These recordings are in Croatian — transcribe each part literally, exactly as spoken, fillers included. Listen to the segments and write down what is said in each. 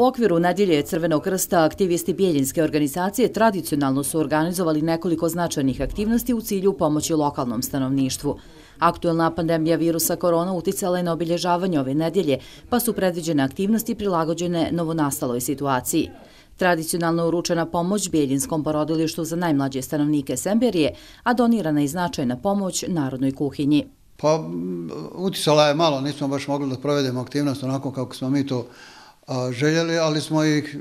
U okviru Nedjelje Crvenog krsta aktivisti Bijeljinske organizacije tradicionalno su organizovali nekoliko značajnih aktivnosti u cilju pomoći lokalnom stanovništvu. Aktuelna pandemija virusa korona uticala je na obilježavanje ove nedjelje, pa su predviđene aktivnosti prilagođene novonastaloj situaciji. Tradicionalno uručena pomoć Bijeljinskom porodilištu za najmlađe stanovnike Semberije, a donirana je značajna pomoć narodnoj kuhinji. Pa uticala je malo, nismo baš mogli da provedemo aktivnost onako kako smo mi to željeli, ali smo ih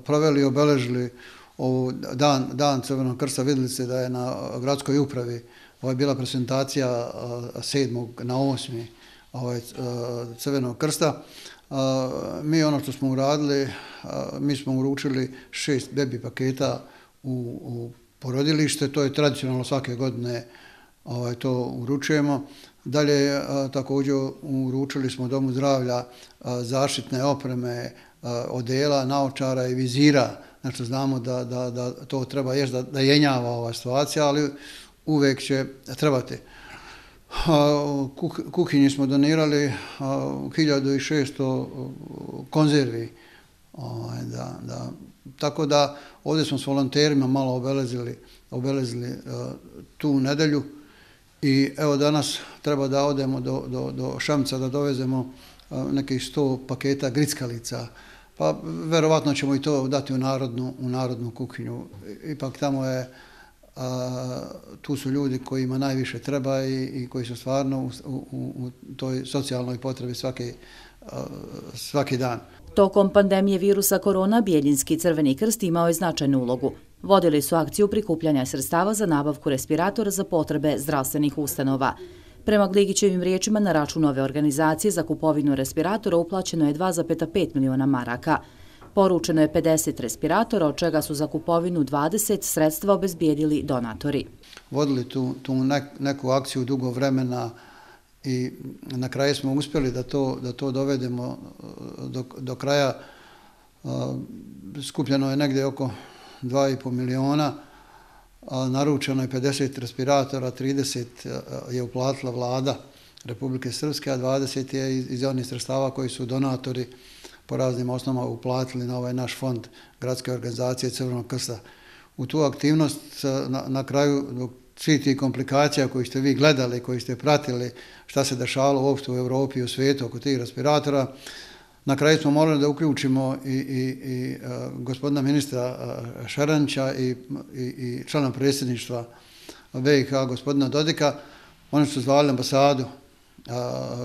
proveli i obeležili ovu dan, dan Crvenog krsta. Vidjeli ste da je na gradskoj upravi ovo je bila prezentacija sedmog na osmi ovaj, Crvenog krsta. Mi ono što smo uradili, mi smo uručili šest bebi paketa u, u porodilište, to je tradicionalno svake godine ovaj, to uručujemo. Dalje također uručili smo Domu zdravlja zaštitne opreme, odela, naočara i vizira. Znači znamo da, da, da to treba još da, da jenjava ova situacija, ali uvijek će trebati. Kuhinji smo donirali hiljadu šesto konzervi. Da, da. Tako da ovdje smo s volonterima malo obelezili, obelezili tu nedelju. I evo danas treba da odemo do, do, do Šamca da dovezemo nekih sto paketa grickalica. Pa verovatno ćemo i to dati u narodnu, u narodnu kuhinju. Ipak tamo je, a, tu su ljudi kojima najviše treba i, i koji su stvarno u, u, u toj socijalnoj potrebi svaki, a, svaki dan. Tokom pandemije virusa korona Bijeljinski Crveni krst imao je značajnu ulogu. Vodili su akciju prikupljanja sredstava za nabavku respiratora za potrebe zdravstvenih ustanova. Prema Gligićevim riječima, na račun ove organizacije za kupovinu respiratora uplaćeno je dva zarez pet miliona maraka. Poručeno je pedeset respiratora, od čega su za kupovinu dvadeset sredstva obezbijedili donatori. Vodili tu, tu neku akciju dugo vremena i na kraju smo uspjeli da to, da to dovedemo do, do kraja. Skupljeno je negdje oko dva i po miliona, naručeno je pedeset respiratora, trideset je uplatila vlada Republike Srpske, a dvadeset je iz onih sredstava koji su donatori po raznim osnovama uplatili na ovaj naš fond Gradske organizacije Crvenog krsta. U tu aktivnost na, na kraju dok svih tih komplikacija koji ste vi gledali, koji ste pratili šta se dešavalo uopšte u Evropi i u svijetu oko tih respiratora, na kraju smo morali da uključimo i, i, i uh, gospodina ministra uh, Šaranća i, i, i člana predsjedništva B i H gospodina Dodika. Oni su zvali ambasadu uh,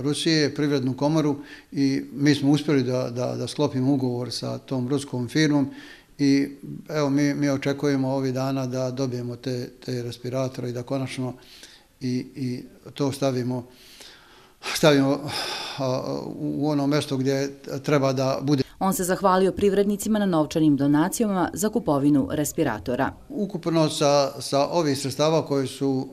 Rusije, privrednu komoru i mi smo uspjeli da, da, da sklopimo ugovor sa tom ruskom firmom i evo mi, mi očekujemo ovih dana da dobijemo te, te respiratore i da konačno i, i to stavimo stavimo u ono mjesto gdje treba da bude. On se zahvalio privrednicima na novčanim donacijama za kupovinu respiratora. Ukupno sa, sa ovih sredstava koji su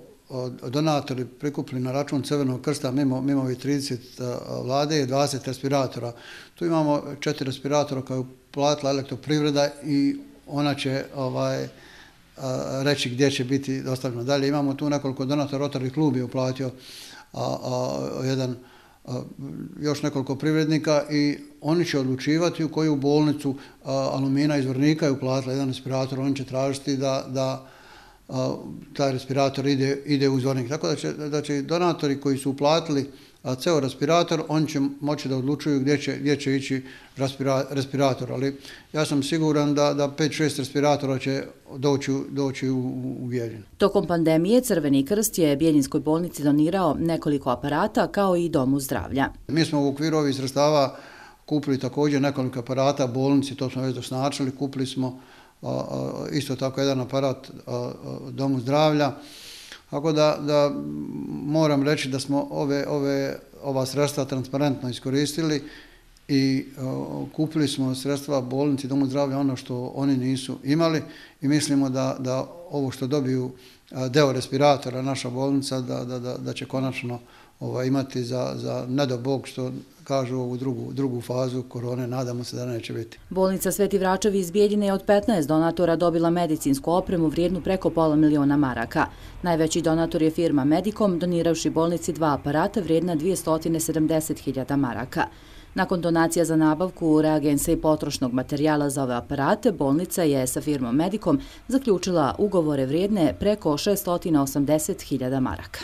donatori prikupili na račun Crvenog krsta mimo, mimo ovih trideset vlade je dvadeset respiratora. Tu imamo četiri respiratora koje je platila elektroprivreda i ona će ovaj, reći gdje će biti dostavljeno. Dalje imamo tu nekoliko donatora, Rotary klub je uplatio A, a, jedan, a, još nekoliko privrednika i oni će odlučivati u koju bolnicu a, Alumina iz Vrnika je uplatila jedan respirator, oni će tražiti da, da a, taj respirator ide, ide u Zvornik. Tako da će, da će donatori koji su uplatili a, ceo respirator, oni će moći da odlučuju gdje će, gdje će ići respira, respirator. Ali ja sam siguran da, da pet šest respiratora će doći, doći u, u Bijeljinu. Tokom pandemije Crveni krst je Bijeljinskoj bolnici donirao nekoliko aparata kao i Domu zdravlja. Mi smo u okviru ovih sredstava kupili također nekoliko aparata bolnici, to smo već doznačili, kupili smo a, a, isto tako jedan aparat a, a, Domu zdravlja. Tako da, da moram reći da smo ove, ove, ova sredstva transparentno iskoristili i uh, kupili smo sredstva bolnici Domu zdravlja ono što oni nisu imali i mislimo da, da ovo što dobiju uh, deo respiratora naša bolnica da, da, da, da će konačno ovaj, imati za, za ne do Bog što kažu ovu drugu, drugu fazu korone, nadamo se da neće biti. Bolnica Sveti Vračevi iz Bijeljine je od petnaest donatora dobila medicinsku opremu vrijednu preko pola miliona maraka. Najveći donator je firma Medicom, doniravši bolnici dva aparata vrijedna dvjesto sedamdeset hiljada maraka. Nakon donacija za nabavku reagensa i potrošnog materijala za ove aparate, bolnica je sa firmom Medicom zaključila ugovore vrijedne preko šeststo osamdeset hiljada maraka.